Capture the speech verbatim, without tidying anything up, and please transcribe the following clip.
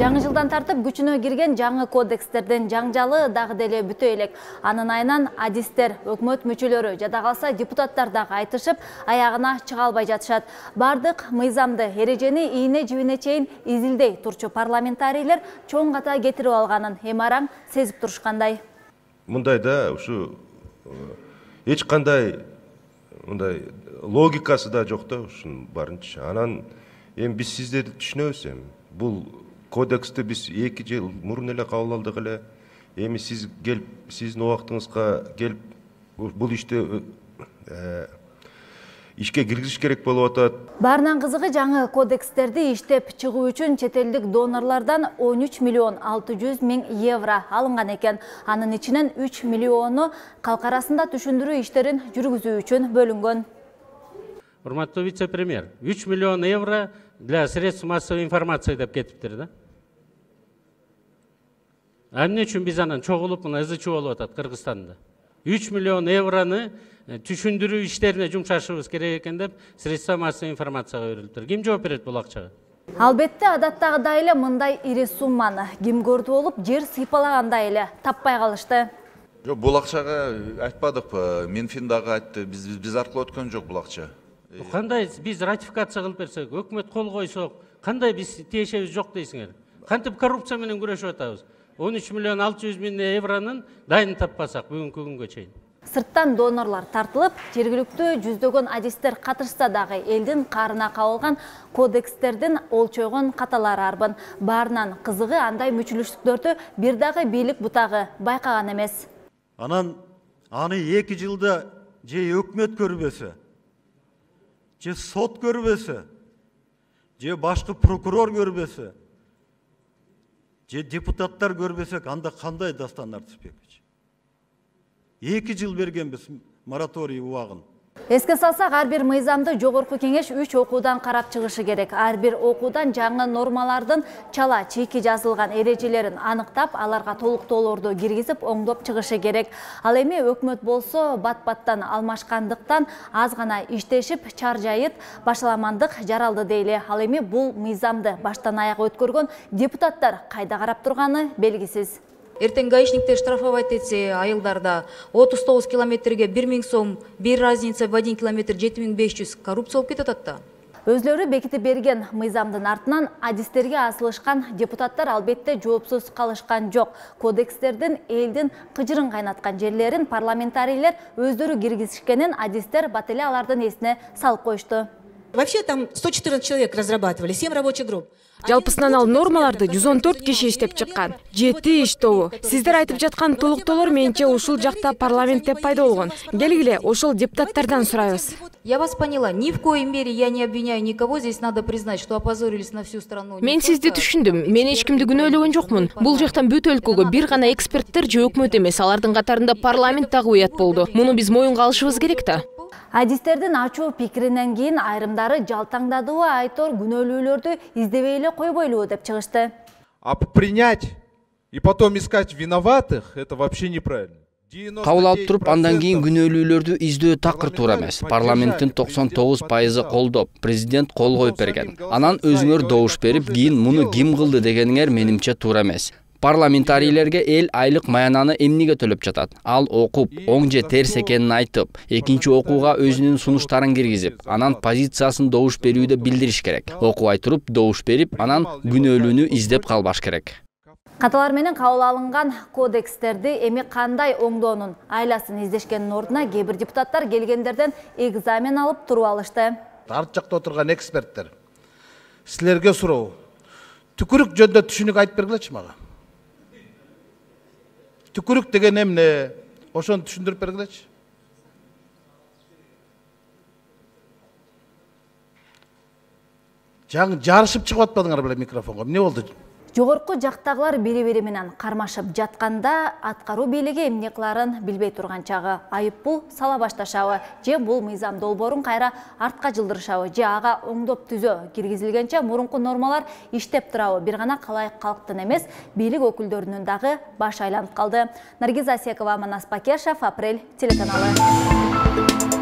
Жаңы жылдан тартып күчүнө кирген жаңы кодекстердин жаңжалы дагы деле бүтө элек. Анын айынан адистер, өкмөт мүчөлөрү, жада калса депутаттар дагы айтышып, аягына чыга албай жатышат. Бардык мыйзамды, эрежени ийне жибине чейин изилдей турчу парламентарийлер чоң ката кетирип алганын эми араң сезип турушкандай. Мындайда ушу эч кандай мындай логикасы да жок да ушунун барынча. Анан эми биз сиздерди түшүнөбүз эми. Бул кодексти биз эки жыл мурун эле кабыл алдык эле. Эми сиз келип, сиздин убактыңызга келип бул иште ишке киргизиш керек болуп атат. Баарынан кызыгы жаңы кодекстерди иштеп чыгуу үчүн чет элдик донорлордон он үч миллион алты жүз миң евро алынган экен. Анын ичинен үч миллиону калк арасында түшүндүрүү иштерин жүргүзүү үчүн бөлүнгөн. Урматтуу вице-премьер, үч миллион евро для средств массовой информации деп кетиптир да. А эмне үчүн биз анан чогулуп мына ызы чуу болуп атат Кыргызстанда? үч миллион евроны түшүндүрүү иштерине жумшашыбыз керек экен деп средства массовой информацияга берилиптир. Ким жооп берет бул акчага? Албетте адаттагыдай эле мындай ири сумманы ким көрдү болуп жер сыйпалагандай эле таппай калышты. Жок, бул акчага айтпадыкпы, Минфин дагы айтты, биз биз аркылуу өткөн жок бул акча. Кандай биз ратификация кылып берсек, өкмөт кол койсок, кандай биз тиешебиз жок дейсиңер? Кантип коррупция менен күрөшүп атабыз? он үч миллион алты жүз миң евронун дайын таппасак бүгүнкү күнгө чейин. Сырттан донорлор тартылып, жергиликтүү жүздөгөн адистер катышса дагы элдин каарына кабылган кодекстердин олчойгон каталары арбын. Баарынан кызыгы андай мүчүлүштүктөрдү бир дагы бийлик бутагы байкаган эмес. Анан аны эки жылда же өкмөт көрбөсө, же сот көрбөсө, же башкы прокурор көрбөсө, же депутаттар көрбөсөк, анда кандай дастандар түшпөкчү? эки жыл бергенбиз мораторий убагын. Эске салсак, ар бир мыйзамды жогорку кеңеш үч окуудан карап чыгышы керек. Ар бир окуудан жаңы нормалардын чала чийки жазылган эрежелерин аныктап, аларга толуктоолорду киргизип, оңдоп чыгышы керек. Ал эми өкмөт болсо бат-баттан алмашкандыктан аз гана иштешип, чаржайыт, башаламандык жаралды дейли. Ал эми бул мыйзамды баштан аяга өткөргөн депутаттар кайда карап турганы белгисиз. Эртең гаишниктер штрафовать этсе, айылдарда отуз тогуз километрге бир миң сом, бир разница в один километр жети миң беш жүз коррупция болуп кетет атта. Өзлөрү бекитип берген мыйзамдын артынан адистерге асылышкан депутаттар албетте жоопсуз калышкан жок. Кодекстердин элдин кыжырын кайнаткан жерлерин парламентарийлер өздөрү киргизишкенин адистер бат эле алардын эсине салып коюшту. Вообще там сто четырнадцать человек разрабатывали, семь рабочих групп. Жалпысынан ал нормаларды жүз он төрт киши иштеп чыккан. жети иштөө. Сиздер айтып жаткан толуктоолор менче ушул жакта парламентте пайда болгон. Келгиле, ошол депутаттардан сурайбыз. Я вас поняла. Ни в коей мере я не обвиняю никого. Здесь надо признать, что опозорились на всю страну. Мен сизди түшүндүм. Мен эч кимди күнөөлөгөн жокмун. Бул жактан бүт өлкөгө бир гана эксперттер же өкмөт эмес, алардын катарында парламент дагы уят болду. Муну биз моюнга алышыбыз керек да. Адистердин ачуу пикиринен кийин айрымдары жалтаңдадыбы айтор күнөөлүүлөрдү издебей эле койбойлу деп чыгышты. А принять и потом искать виноватых — это вообще неправильно. Кабыл алып туруп, андан кийин күнөөлүүлөрдү издөө такыр туура эмес. Парламенттин токсон тогуз пайызы колдоп, президент кол коюп берген. Анан өзүңөр добуш берип, кийин муну ким кылды дегениңер менимче туура эмес. Парламентарийлерге эл айлык маянаны эмнеге төлөп жатат? Ал окуп, оң же терс экенин айтып, экинчи окууга өзүнүн сунуштарын киргизип, анан позициясын добуш берүүдө билдириш керек. Окубай туруп, добуш берип, анан күнөөлүүнү издеп калбаш керек. Каталар менен кабыл алынган кодекстерди эми кандай оңдоонун айласын издешкенин ордуна кээ бир депутаттар келгендерден экзамен алып туруп алышты. Арт жакта отурган эксперттер, силерге суроо. Түкүрүк жөнүндө түшүнүк айтып бергилечи мага. Түкүрүк деген эмне? Ошону түшүндүрүп бергилечи. Жаңы жарышып чыгып атпадыңар беле микрофонго? Эмне болду? Жогорку жактагылар бири-бири менен кармашып жатканда аткаруу бийлиги эмне кыларын билбей турган чагы. Айыппул сала башташабы же бул мыйзам долбоорун кайра артка жылдырышабы же ага оңдоп түзөө киргизилгенче мурунку нормалар иштеп турабы? Бир гана калайык калктын эмес, бийлик өкүлдөрүнүн дагы башы айланып калды. Наргиз Асекова, Манас Бакешев, Апрель телеканалы.